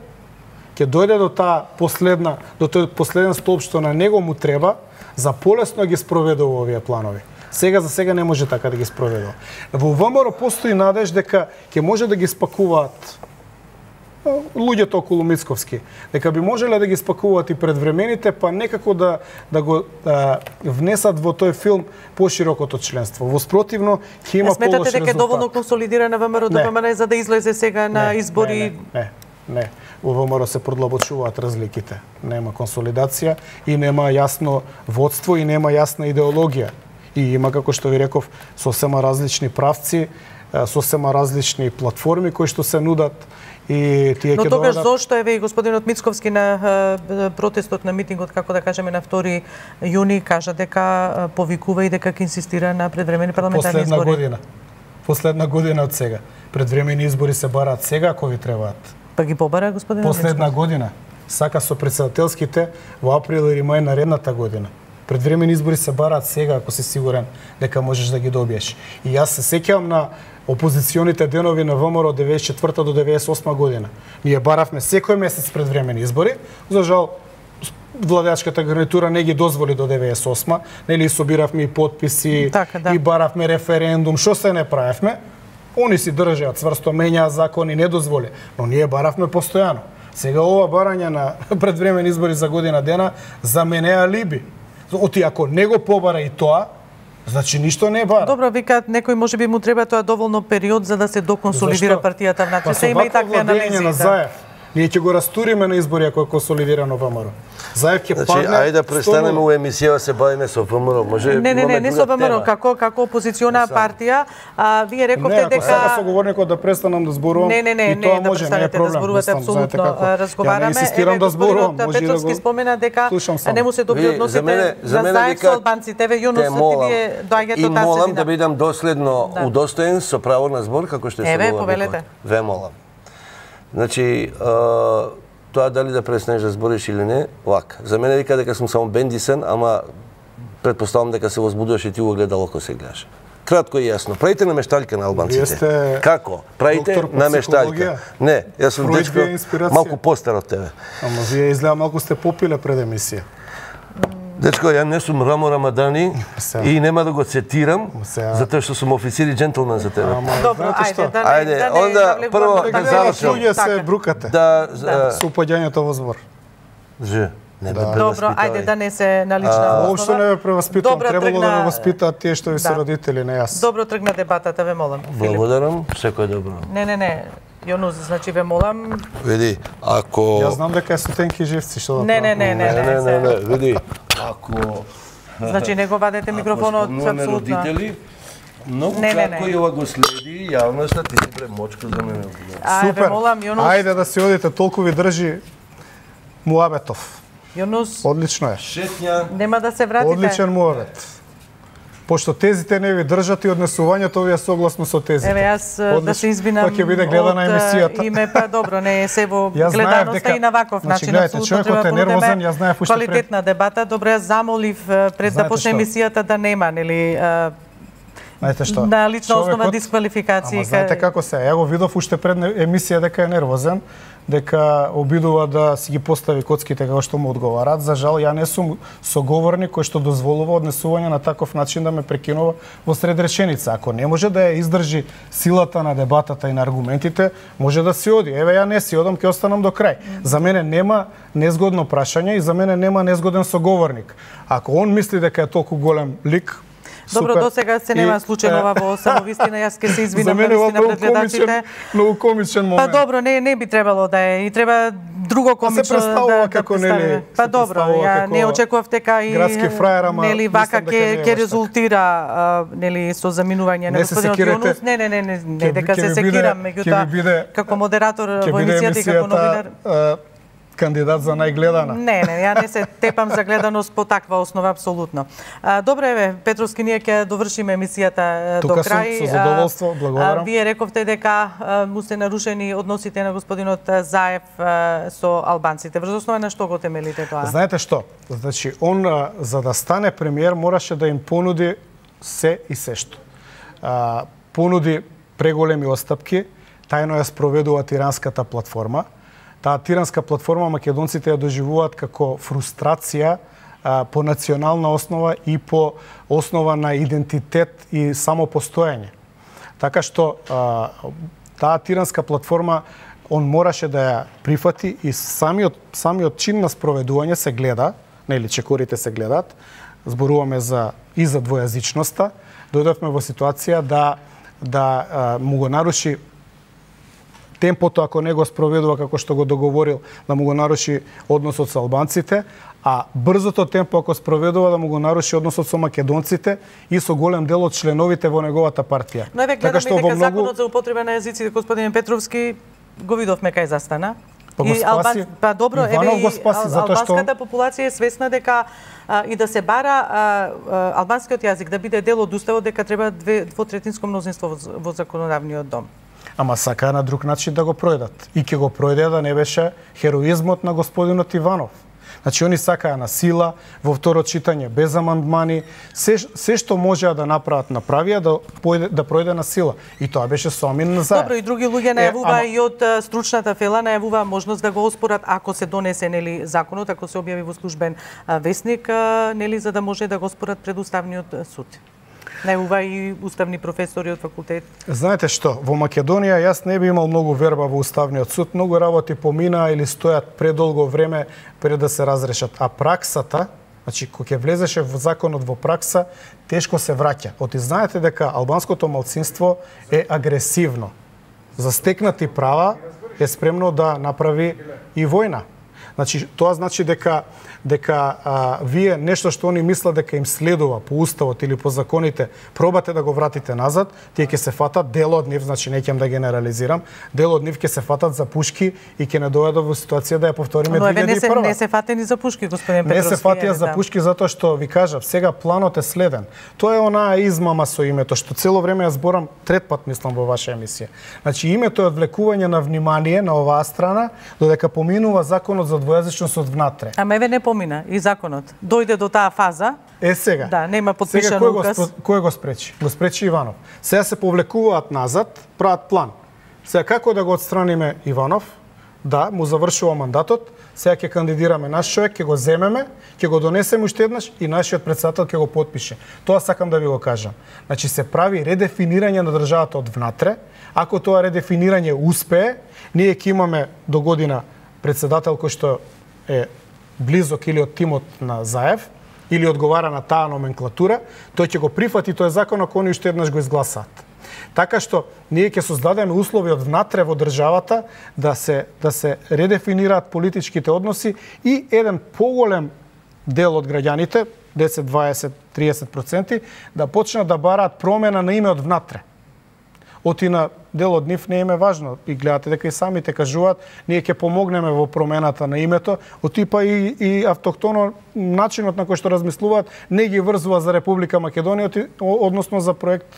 ќе дојде до таа последна, до тој последен столб што на него му треба за полесно ги спроведува овие планови. Сега за сега не може така да ги спроведува. Во ВМРО постои надеж дека ќе може да ги спакуваат луѓето околу Мицковски, дека би можеле да ги спакуваат и предвремените, па некако да да го а, внесат во тој филм поширокото членство. Во спротивно ќе има полош резултат. Сметате дека е доволно консолидирана ВМРО Д П М Н за да излезе сега на Не, избори? Не, не, не. не. Во ВМРО се продлабочуваат разликите. Нема консолидација и нема јасно водство и нема јасна идеологија. И има, како што ви реков, сосема различни правци, сосема различни платформи кои што се нудат и тие Но ќе тогаш доведат... зошто еве и господинот Мицковски на е, протестот на митингот, како да кажеме на втори јуни, кажа дека е, повикува и дека ќе инсистира на предвремени парламентарни Последна избори? година. Последна година од сега. Предвремени избори се бараат сега, ако ви требаат. Па ги побара господинот Последна Мицковски? година. Сака со председателските во април или мај наредната година. Предвремени избори се бараат сега, ако си сигурен дека можеш да ги добиеш. И јас се сеќавам на опозиционите денови на ВМРО од деветдесет и четврта до деветдесет и осма година. Ние баравме секој месец предвремени избори, за жал владеачката гарнитура не ги дозволи до деветдесет и осма, нели собиравме и потписи, Така, да. и баравме референдум, што се не правевме. Они си држаат цврсто, менјаат закони, не дозволи, но ние баравме постојано. Сега ова барање на предвремени избори за година дена за мене е алиби. Оти ако не го побара и тоа, значи ништо не бара. Добро, викаат некој можеби му треба тоа доволно период за да се доконсолидира Зашто? партијата внатре. Па Се има и такви анализи. на Да. Заев. Ние ќе го растуриме на избори ако е консолидирано ВМРО. Заев ќе Значи, падне. ајде да престанеме сто нула. у емисија да се бавиме со ВМРО. Може Не, не, не, имаме не друга со ВМРО, тема. како како опозициона партија, а вие Не, рековте ако сега дека соговорникот да престанам да зборувам, Не, не, не, и тоа не, да може, не е престанете да проблем. зборувате, Мислам, знаете апсолутно како. разговараме. Ја не инсистирам да зборувам, господинот може и да Петровски го спомена дека слушам само. не му се добри Вие, односите за мене, за на мене заед со вика, албанците. Еве, Јунус, те молам, ти вие доаѓате и од таа молам средина. да бидам доследно Да. удостоен со право на збор, како што се Еве, говори. повелете. Ве молам. Значи, а, тоа дали да престанеш да збориш или не, вака. За мене вика дека сум само бендисен, ама предпоставам дека се возбудуваш и ти го гледало кој се гледаш. Кратко и јасно. Правите намешталка на албанците. Вие сте Како? Правите доктор по намешталка. психологија? Не, јас сум Фројд дечко ви е инспирација? малку постар од тебе. Ама вие изгледа малку сте попиле пред емисија. Дечко, ја не сум Рамо Рамадани Сега. и нема да го цитирам, Сега. затоа што сум официр и джентлмен за тебе. Ама Добро, знаете ајде, што? да не, Ајде, да не онда навлегуваме прво во да таква завршам. Луѓе се така. брукате Да, Да. со упаѓањето во збор. Ж, не ме Добро, преваспитавај. ајде да не се на лична основа. Воопшто не ве преваспитувам, Добра требало да тргна- ме воспитаат тие што ви се Да. родители, не јас. Добро тргна дебатата, ве молам. Филип. Благодарам, секој добро. Не, не, не. Јонус, значи ве молам. Види, ако... Јас знам дека е со тенки живци, што да Не, не, правам? не, не, Не, не, не, се- не, види, ако... Значи не го вадете микрофонот спомнуваме апсолутно. родители, многу Не, не, кратко не. и ова го следи јавноста, ти си премочка за мене. Ајде, Супер. молам, Јонус. Ајде да си одите, толку ви држи муабетов. Јонус, Одлично е. Шетња, нема да се вратите. Одличен муабет. Пошто тезите не ви држат и однесувањето ви е согласно со тезите. Еве јас да Одлично. се извинам. Па ќе биде гледана од, емисијата. Име па добро, не е се во Јас знаев гледаноста дека- и на ваков значи, начин гледайте, апсолутно човекот треба е понудеме нервозен, јас знаев уште пред- квалитетна дебата. Добро, јас замолив е, пред да Знаете почне што? емисијата да нема, нели, е, Знаете што? на лична основа Човекот- дисквалификација. Ама знаете како се, ја го видов уште пред не- емисија дека е нервозен, дека обидува да си ги постави коцките како што му одговараат. За жал, ја не сум соговорник кој што дозволува однесување на таков начин да ме прекинува во сред реченица. Ако не може да ја издржи силата на дебатата и на аргументите, може да си оди. Еве ја не си одам, ќе останам до крај. За мене нема незгодно прашање и за мене нема незгоден соговорник. Ако он мисли дека е толку голем лик, Добро, супер. до сега се нема И, случај е, ова во самовистина, јас ќе се За извинам мене ова навистина многу пред гледачите. комичен, многу комичен Па момент. добро, не не би требало да е и треба друго комично представува да, да како, представиме. нели, Па се добро, представува ја како не очекував дека и градски фраер, ама нели мислам вака дека ќе не е ќе баш така. резултира а, нели со заминување на Не се господинот секирате. Јунус. Не, не, не, не, не Ќе- дека ќе се ви биде- секирам, ќе меѓутоа ви биде- како модератор Ќе во биде емисијата и како новинар. емисијата кандидат за најгледана. Не, не, ја не се тепам за гледаност по таква основа апсолутно. А, добре, еве, Петровски, ние ќе довршиме емисијата Тука до крај. Тука сум, со задоволство, благодарам. А, вие рековте дека а, му се нарушени односите на господинот Заев а, со албанците. Врз основа на што го темелите тоа? Знаете што? Значи, он а, за да стане премиер мораше да им понуди се и се што. А, понуди преголеми остапки, тајно ја спроведува тиранската платформа. Таа тиранска платформа македонците ја доживуваат како фрустрација а, по национална основа и по основа на идентитет и самопостоење. Така што а, таа тиранска платформа он мораше да ја прифати и самиот самиот чин на спроведување се гледа, нели чекорите се гледат. Зборуваме за и за двојазичноста. Дојдовме во ситуација да да а, му го наруши темпото, ако не го спроведува како што го договорил, да му го наруши односот со албанците, а брзото темпо ако спроведува да му го наруши односот со македонците и со голем дел од членовите во неговата партија. Но еве гледаме дека многу... законот за употреба на јазиците, господин Петровски, го видовме кај застана. Па го спаси, Албан... па добро, Иванов еве го спаси, затоа што албанската популација е свесна дека а, и да се бара а, а, албанскиот јазик да биде дел од уставот, дека треба две двотретинско мнозинство во, во законодавниот дом. Ама сакаа на друг начин да го пројдат. И ќе го пројде да не беше хероизмот на господинот Иванов. Значи, они сакаа на сила, во второ читање, без амандмани, се, се што можеа да направат, направија да, појде, да пројде на сила. И тоа беше со Амин Заев. Добро, и други луѓе најавува е, ама... и од стручната фела најавува можност да го оспорат ако се донесе нели законот, ако се објави во службен весник, нели за да може да го оспорат пред Уставниот суд. Најува и уставни професори од факултет. Знаете што, во Македонија јас не би имал многу верба во Уставниот суд, многу работи поминаа или стојат предолго време пред да се разрешат. А праксата, значи кога ќе влезеше во законот во пракса, тешко се враќа. Оти знаете дека албанското малцинство е агресивно. За стекнати права е спремно да направи и војна. Значи, тоа значи дека дека а, вие нешто што они мислат дека им следува по уставот или по законите, пробате да го вратите назад, тие ќе се фатат, дел од нив, значи не ќе да генерализирам, дел од нив ќе се фатат за пушки и ќе не дојдат во ситуација да ја повториме две илјади и прва. Но еве не се, не се фатени за пушки, господин Петровски. Не се фатија за пушки затоа што ви кажав, сега планот е следен. Тоа е онаа измама со името што цело време ја зборам, трет пат мислам во ваша емисија. Значи името е одвлекување на внимание на оваа страна, додека поминува законот за двојазичност од внатре. Ама еве не помина и законот. Дојде до таа фаза. Е сега. Да, нема подпишан сега, кој указ. Го, кој го спречи? Го спречи Иванов. Сега се повлекуваат назад, прават план. Сега како да го отстраниме Иванов? Да, му завршува мандатот. Сега ќе кандидираме наш човек, ќе го земеме, ќе го донесеме уште еднаш и нашиот претседател ќе го потпише. Тоа сакам да ви го кажам. Значи се прави редефинирање на државата од внатре. Ако тоа редефинирање успее, ние ќе имаме до година претседател кој што е близок или од тимот на Заев, или одговара на таа номенклатура, тој ќе го прифати тој закон ако они уште еднаш го изгласаат. Така што ние ќе создадеме услови од внатре во државата да се да се редефинираат политичките односи и еден поголем дел од граѓаните, десет, дваесет, триесет проценти, да почнат да бараат промена на име од внатре. Оти на дел од нив не им е важно. И гледате дека и самите кажуваат, ние ќе помогнеме во промената на името, оти па и, и автохтоно начинот на кој што размислуваат не ги врзува за Република Македонија, односно за проект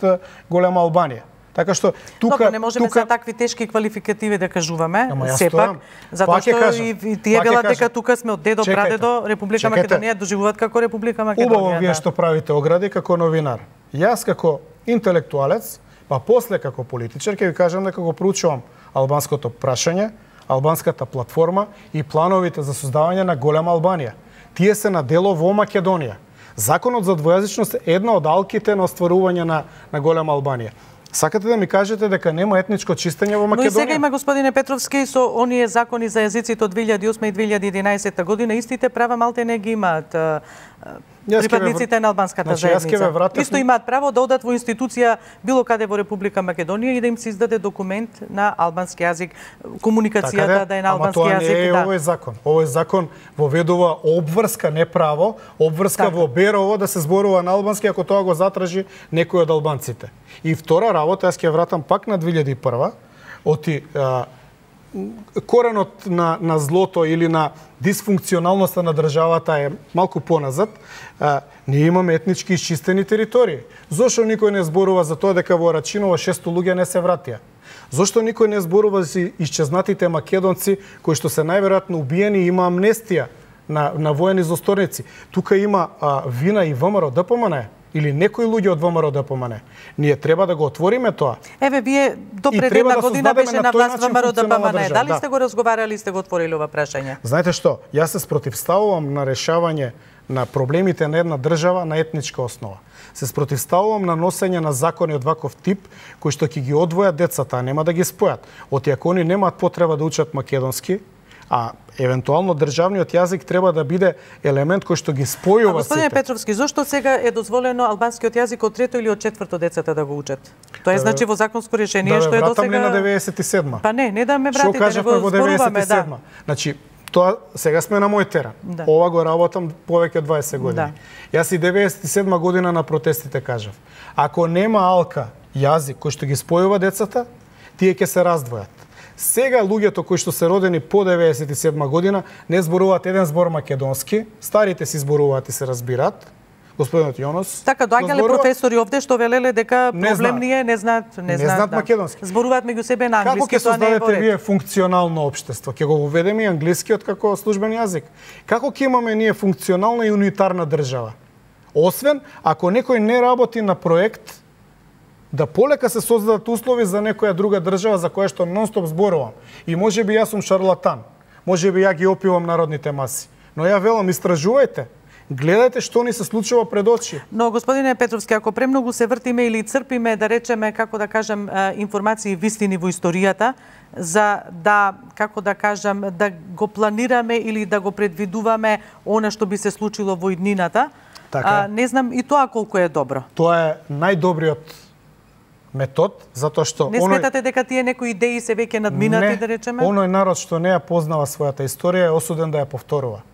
Голема Албанија. Така што тука Добро, не можеме тука... за такви тешки квалификативи да кажуваме, стојам. сепак, затоа што и, и тие велат дека тука сме од дедо прадедо, Република чекайте. Македонија доживуваат како Република Македонија. Убаво вие да. што правите огради како новинар. Јас како интелектуалец, па после како политичар ќе ви кажам дека го проучувам албанското прашање, албанската платформа и плановите за создавање на Голема Албанија. Тие се на дело во Македонија. Законот за двојазичност е една од алките на остварување на, на Голема Албанија. Сакате да ми кажете дека нема етничко чистење во Македонија? Но и сега има, господине Петровски, со оние закони за јазиците од две илјади и осма и две илјади и единаесета година, истите права малте не ги имаат припадниците на албанската значи, заедница. Исто имаат право да одат во институција било каде во Република Македонија и да им се издаде документ на албански јазик, комуникацијата така да е на албански јазик. Ама тоа не е да. овој закон. Овој закон воведува обврска, не право, обврска така. Во Берово да се зборува на албански ако тоа го затражи некој од албанците. И втора работа, јас ќе вратам пак на две илјади и прва, оти а, коренот на, на злото или на дисфункционалноста на државата е малку поназад, а, ние имаме етнички изчистени територии. Зошто никој не зборува за тоа дека во Рачиново шесто луѓе не се вратија? Зошто никој не зборува за исчезнатите македонци кои што се најверојатно убиени и има амнестија на, на воени злосторници? Тука има а, вина и ВМРО ДПМН или некои луѓе од ВМРО ДПМН. Ние треба да го отвориме тоа. Еве, вие до пред една да година беше на власт ВМРО ДПМН. Дали сте го разговарали и сте го отворили ова прашање? Знаете што? Јас се спротивставувам на решавање на проблемите на една држава на етничка основа. Се спротивставувам на носење на закони од ваков тип кои што ќе ги одвојат децата, а нема да ги спојат. Оти ако они немаат потреба да учат македонски, а евентуално државниот јазик треба да биде елемент кој што ги спојува сите. Господине Петровски, зошто сега е дозволено албанскиот јазик од трето или од четврто децата да го учат? Тоа е значи во законско решение да, што е до сега. Да, на деветдесет и седма. Па не, не да ме вратите, што кажавме во деветдесет и седма. Да. Значи, тоа сега сме на мој терен. Да. Ова го работам повеќе од дваесет години. Да. Јас и деветдесет и седма година на протестите кажав: ако нема алка јазик кој што ги спојува децата, тие ќе се раздвојат. Сега луѓето кои што се родени по деветдесет и седма година не зборуваат еден збор македонски, старите си зборуваат и се разбираат. Господинот Јонос. Така доаѓале зборува... професори овде што велеле дека проблем не е, не знаат, не, не знаат, знаат да. македонски. Зборуваат меѓу себе на англиски, тоа не е во ред. Како ќе создадете вие функционално општество? Ќе го уведеме и англискиот како службен јазик. Како ќе имаме ние функционална и унитарна држава? Освен ако некој не работи на проект да полека се создадат услови за некоја друга држава за која што нон-стоп зборувам. И можеби јас сум шарлатан. Можеби ја ги опивам народните маси. Но ја велам, истражувајте. Гледајте што ни се случува пред очи. Но, господине Петровски, ако премногу се вртиме или црпиме, да речеме, како да кажем, информации и вистини во историјата, за да, како да кажем, да го планираме или да го предвидуваме она што би се случило во иднината, така. а, не знам и тоа колку е добро. Тоа е најдобриот метод, затоа што не сметате оној... дека тие некои идеи се веќе надминати, не, да речеме? Оној народ што не ја познава својата историја е осуден да ја повторува.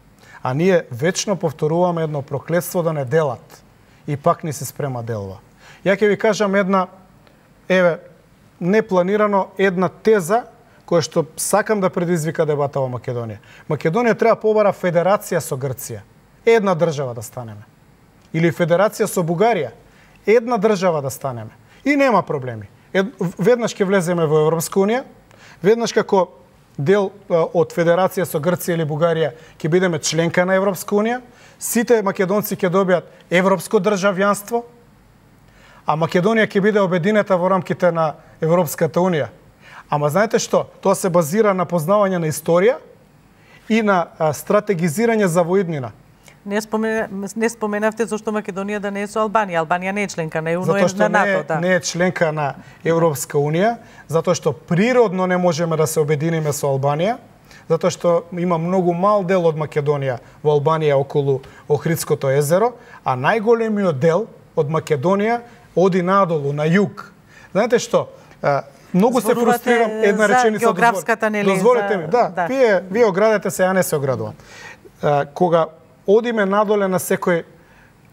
А ние вечно повторуваме едно проклетство да не делат. И пак ни се спрема делва. Ја ќе ви кажам една, еве, непланирано една теза која што сакам да предизвика дебата во Македонија. Македонија треба побара федерација со Грција. Една држава да станеме. Или федерација со Бугарија. Една држава да станеме. И нема проблеми. Ед, веднаш ќе влеземе во Европска унија, веднаш како дел од федерација со Грција или Бугарија ќе бидеме членка на Европска унија, сите македонци ќе добијат европско државјанство, а Македонија ќе биде обединета во рамките на Европската унија. Ама знаете што? Тоа се базира на познавање на историја и на стратегизирање за воиднина. Не, спомена, не споменавте зашто Македонија да не е со Албанија. Албанија не е членка на ЕУ, но е на НАТО. Да. Не е член на Европска унија, затоа што природно не можеме да се обединиме со Албанија, затоа што има многу мал дел од Македонија во Албанија околу Охридското езеро, а најголемиот дел од Македонија оди надолу, на југ. Знаете што? Многу се фрустрирам една реченица. Географската нели? Дозволете ми, да. да. Вие, вие оградете се, ја не се оградувам. Кога одиме надоле на секој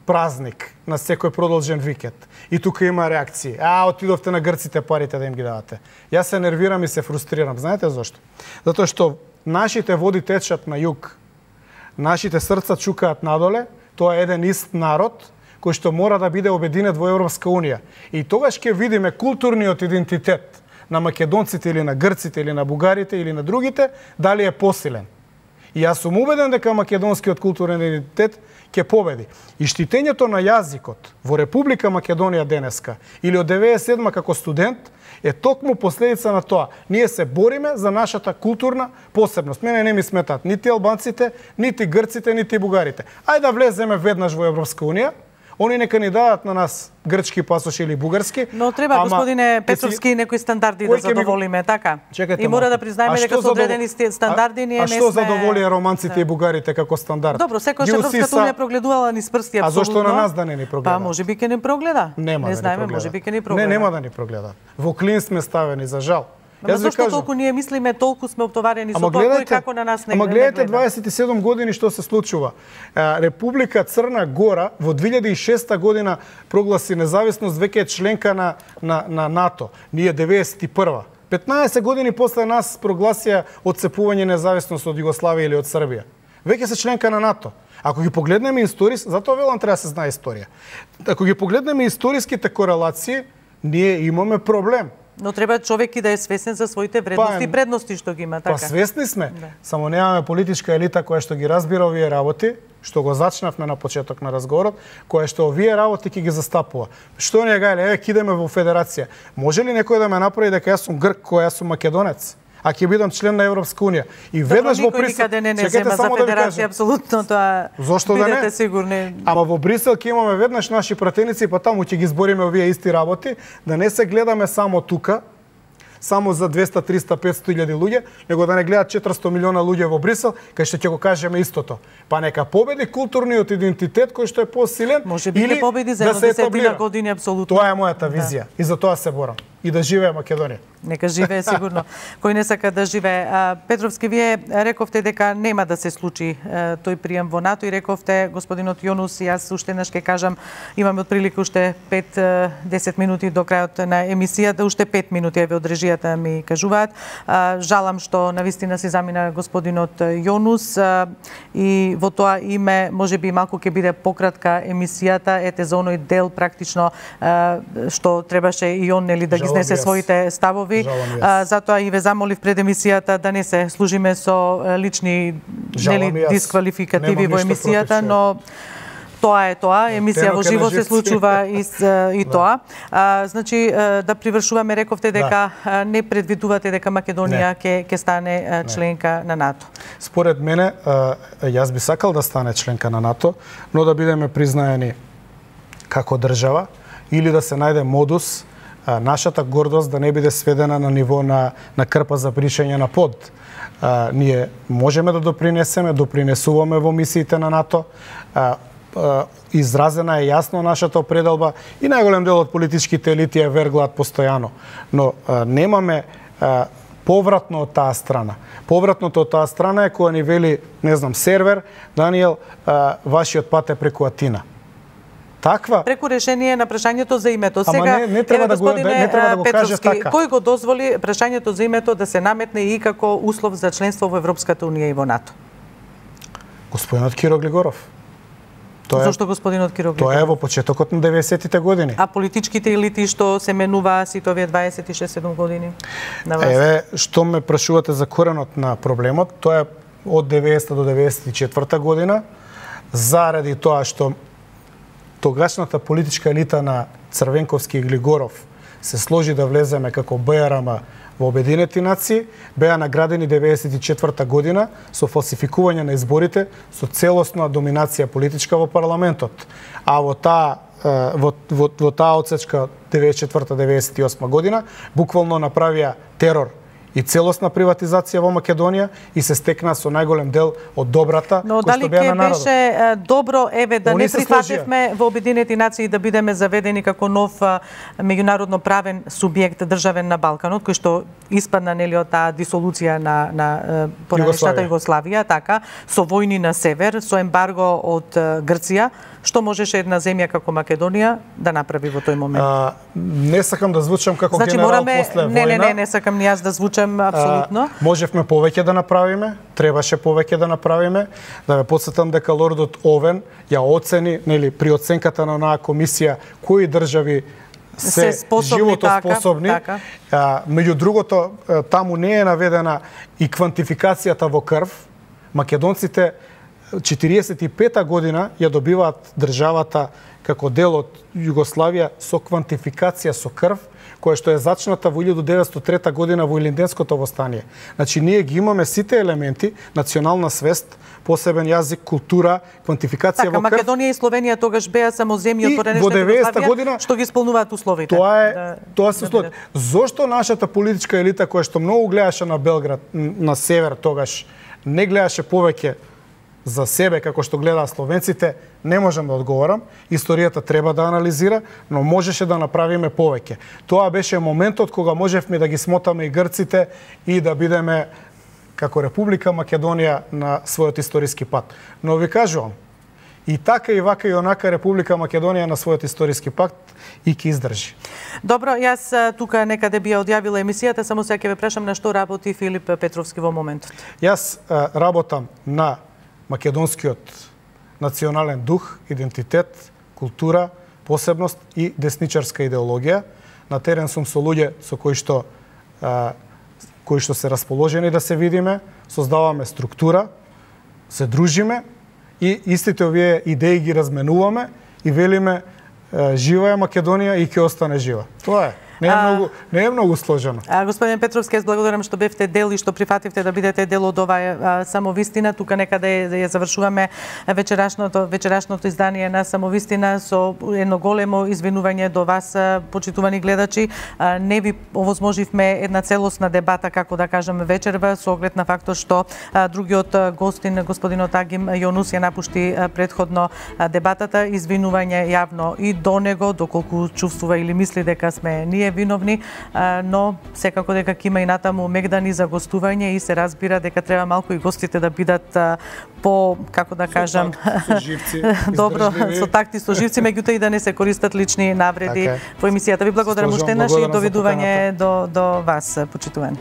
празник, на секој продолжен викенд. И тука има реакции. А, отидовте на грците парите да им ги давате. Јас се нервирам и се фрустрирам. Знаете зошто? Затоа што нашите води течат на југ. Нашите срца чукаат надоле. Тоа е еден ист народ кој што мора да биде обединет во Европска унија. И тогаш ќе видиме културниот идентитет на македонците или на грците или на бугарите или на другите дали е посилен. И јас сум убеден дека македонскиот културен идентитет ќе победи. И штитењето на јазикот во Република Македонија денеска или од деветдесет и седма како студент е токму последица на тоа. Ние се бориме за нашата културна посебност. Мене не ми сметат нити албанците, нити грците, нити бугарите. Ајде да влеземе веднаш во Европска унија. Они нека ни дадат на нас грчки пасош или бугарски. Но треба, ама, господине Петровски, некои стандарди да задоволиме, ми... така? Чекайте, и мора да признаеме дека со одредени стандарди ние не сме... А што задоволи романците да. и бугарите како стандард? Добро, секој Европската унија прогледувала ни прсти апсолутно. А зошто на нас да не ни прогледа? Па можеби ќе ни прогледа. Нема не да знаеме, можеби ќе ни прогледа. Не, нема да ни прогледа. Во клин сме ставени, за жал. Ама зашто толку ние мислиме, толку сме оптоварени со тоа кој како на нас не гледа? Ама гледате дваесет и седум години што се случува. Република Црна Гора во две илјади и шеста година прогласи независност, веќе е членка на, на, на НАТО. Ние деветдесет и прва. петнаесет години после нас прогласија отцепување независност од Југославија или од Србија. Веќе се членка на НАТО. Ако ги погледнеме историс, затоа велам треба да се знае историја. Ако ги погледнеме историските корелации, ние имаме проблем. Но треба човек и да е свесен за своите вредности па, и предности што ги има, така. Па свесни сме, да. Само немаме политичка елита која што ги разбира овие работи, што го зачнавме на почеток на разговорот, која што овие работи ќе ги застапува. Што не гајле, еве кидеме во федерација. Може ли некој да ме направи дека јас сум грк, кој јас сум македонец? А ќе бидам член на Европска унија. И веднаш во Брисел, никаде не не зема за федерација, апсолутно тоа. Зошто да не? Сигурни. Ама во Брисел ќе имаме веднаш наши пратеници, па таму ќе ги збориме овие исти работи, да не се гледаме само тука, само за двеста, триста, петсто илјади луѓе, него да не гледат четиристо милиона луѓе во Брисел, кај што ќе го кажеме истото. Па нека победи културниот идентитет кој што е посилен, може би или победи за да се десетина години апсолутно. Тоа е мојата визија, да. И за тоа се борам. И да живее Македонија. Нека живее сигурно. Кој не сака да живее. Петровски, вие рековте дека нема да се случи тој прием во НАТО и рековте, господинот Јонус, и јас уште еднаш ќе кажам, имаме отприлика уште пет до десет минути до крајот на емисијата, уште пет минути еве од режијата ми кажуваат. Жалам што навистина се замина господинот Јонус и во тоа име можеби малку ќе биде пократка емисијата, ете за оној дел практично што требаше и он нели да ги изнесе своите ставови. А, затоа и ве замолив пред емисијата да не се служиме со лични нели дисквалификативи во емисијата, но тоа е тоа, емисија во живо се случува и, и тоа. А, значи, да привршуваме, рековте дека да. Не предвидувате дека Македонија ќе ќе стане членка не. на НАТО. Според мене, јас би сакал да стане членка на НАТО, но да бидеме признаени како држава или да се најде модус нашата гордост да не биде сведена на ниво на, на крпа за пришење на под. А, ние можеме да допринесеме, допринесуваме во мисиите на НАТО. А, а, изразена е јасно нашата определба и најголем дел од политичките елити ја верглаат постојано. Но а, немаме а, повратно од таа страна. Повратното од таа страна е која ни вели, не знам, сервер, Даниел, а, вашиот пат е преку Атина. Таква преку решение на прашањето за името. Сега Ама не, не треба да го не треба да го каже така. Кој го дозволи прашањето за името да се наметне и како услов за членство во Европската унија и во НАТО? Господинот Киро Глигоров. Тоа Зошто господинот Киро Глигоров? Тоа е во почетокот на деветдесеттите години. А политичките елити што се менуваа сите овие дваесет и шест седум години на власт? Еве, што ме прашувате за коренот на проблемот, тоа е од деветдесета до деветдесет и четврта година, заради тоа што тогашната политичка елита на Црвенковски и Глигоров се сложи да влеземе како БРМ во Обединети нации, беа наградени деветдесет и четврта година со фалсификување на изборите, со целосна доминација политичка во парламентот. А во таа во, во, во таа отсечка деветдесет и четврта до деветдесет и осма година буквално направија терор и целосна приватизација во Македонија и се стекна со најголем дел од добрата Но кој што беа на народот. Но дали ќе беше добро еве да Они не прифативме во Обединети нации да бидеме заведени како нов меѓународно правен субјект државен на Балканот, кој што испадна нели од таа дисолуција на на поранешната Југославија, така, со војни на север, со ембарго од Грција, што можеше една земја како Македонија да направи во тој момент? А, не сакам да звучам како значи, генерал мораме, после војна. Не, не, не, не сакам ни јас да звучам апсолутно. А, можевме повеќе да направиме, требаше повеќе да направиме. Да ве потсетам дека лордот Овен ја оцени, нели, при оценката на онаа комисија кои држави се, се способни, животоспособни. Така, така. А, меѓу другото, таму не е наведена и квантификацијата во крв. Македонците четириесет и пета година ја добиваат државата како дел од Југославија со квантификација со крв, која што е зачната во илјадум деветстотини и трета година во Илинденското востание. Значи, ние ги имаме сите елементи, национална свест, посебен јазик, култура, квантификација така, во крв. Македонија и Словенија тогаш беа само земји од поранешната Југославија година што ги исполнуваат условите. Тоа е, да, тоа се услови. Да Зошто нашата политичка елита која што многу гледаше на Белград, на север тогаш, не гледаше повеќе за себе како што гледаат словенците, не можам да одговорам. Историјата треба да анализира, но можеше да направиме повеќе. Тоа беше моментот кога можевме да ги смотаме и грците и да бидеме како Република Македонија на својот историски пат. Но ви кажувам, И така и вака и онака Република Македонија на својот историски пакт и ќе издржи. Добро, јас тука некаде би ја одјавила емисијата, само сега ќе ве прашам на што работи Филип Петровски во моментот. Јас а, работам на македонскиот национален дух, идентитет, култура, посебност и десничарска идеологија. На терен сум со луѓе со кои што а, кои што се расположени да се видиме, создаваме структура, се дружиме и истите овие идеи ги разменуваме и велиме жива е Македонија и ќе остане жива. Тоа е. Не е многу, не е многу сложено. А, господин Петровски, јас благодарам што бевте дел и што прифативте да бидете дел од оваа самовистина. Тука некаде ја завршуваме вечерашното вечерашното издание на Самовистина со едно големо извинување до вас, почитувани гледачи. Не ви овозможивме една целосна дебата, како да кажеме, вечерва, со оглед на фактот што другиот гостин, господинот Агим Јонус, ја напушти предходно дебатата. Извинување јавно и до него, доколку чувствува или мисли дека сме ние виновни, но секако дека ќе има и натаму мегдани за гостување и се разбира дека треба малку и гостите да бидат по, како да кажам, со живци, добро, со такти со живци, меѓутоа и да не се користат лични навреди во емисијата. Ви благодарам уште еднаш и довидување до до вас, почитувани.